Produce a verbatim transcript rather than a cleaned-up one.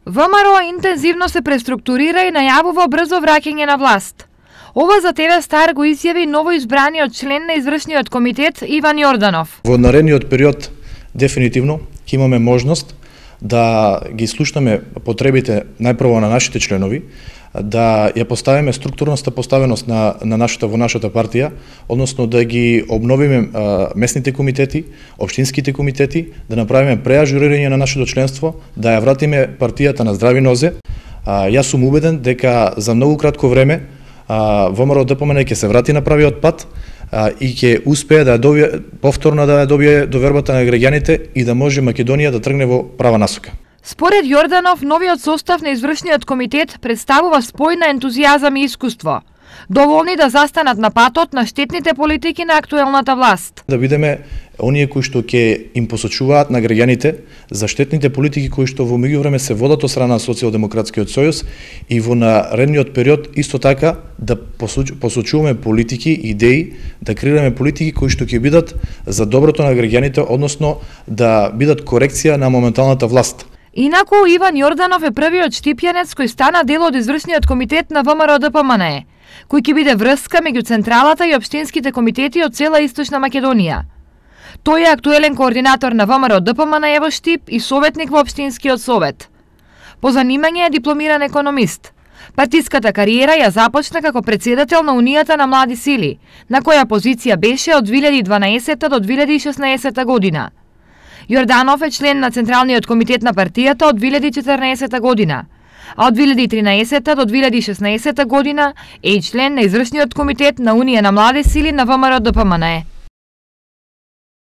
ВМРО интензивно се преструктурира и најавува брзо враќање на власт. Ова за ТВ Стар го изјави новоизбраниот член на извршниот комитет Иван Јорданов. Во наредниот период дефинитивно ќе имаме можност да ги слушнеме потребите најпрво на нашите членови, да ја поставиме структурната поставеност на, на нашата во нашата партија, односно да ги обновиме а, местните комитети, општинските комитети, да направиме преажурирање на нашето членство, да ја вратиме партијата на здрави нозе. А, јас сум убеден дека за многу кратко време ВМРО Д П М Н ќе се врати на правиот пат а, и ќе успее да ја добие повторно да ја добие довербата на граѓаните и да може Македонија да тргне во права насока. Според Јорданов, новиот состав на извршниот комитет представува спој на ентузијазам и искуство, доволни да застанат на патот на штетните политики на актуелната власт. Да бидеме оние кои што ќе им посочуваат на граѓаните за штетните политики кои што во меѓувреме се водат од страна на Социјалдемократскиот сојуз и во наредниот период исто така да посочуваме политики, идеи, да креираме политики кои што ќе бидат за доброто на граѓаните, односно да бидат корекција на моменталната власт. Инаку, Иван Јорданов е првиот штипјанец кој стана дел од извршниот комитет на ВМРО Д П М Н, кој ќе биде врска меѓу централата и општинските комитети од цела Источна Македонија. Тој е актуелен координатор на ВМРО Д П М Н во Штип и советник во општинскиот совет. По занимање е дипломиран економист. Партиската кариера ја започна како председател на Унијата на млади сили, на која позиција беше од две илјади и дванаесетта до две илјади и шеснаесетта година. Јорданов е член на Централниот комитет на партијата од две илјади и четрнаесетта година, а од две илјади и тринаесетта до две илјади и шеснаесетта година е и член на извршниот комитет на Унија на млади сили на ВМРО Д П М Н.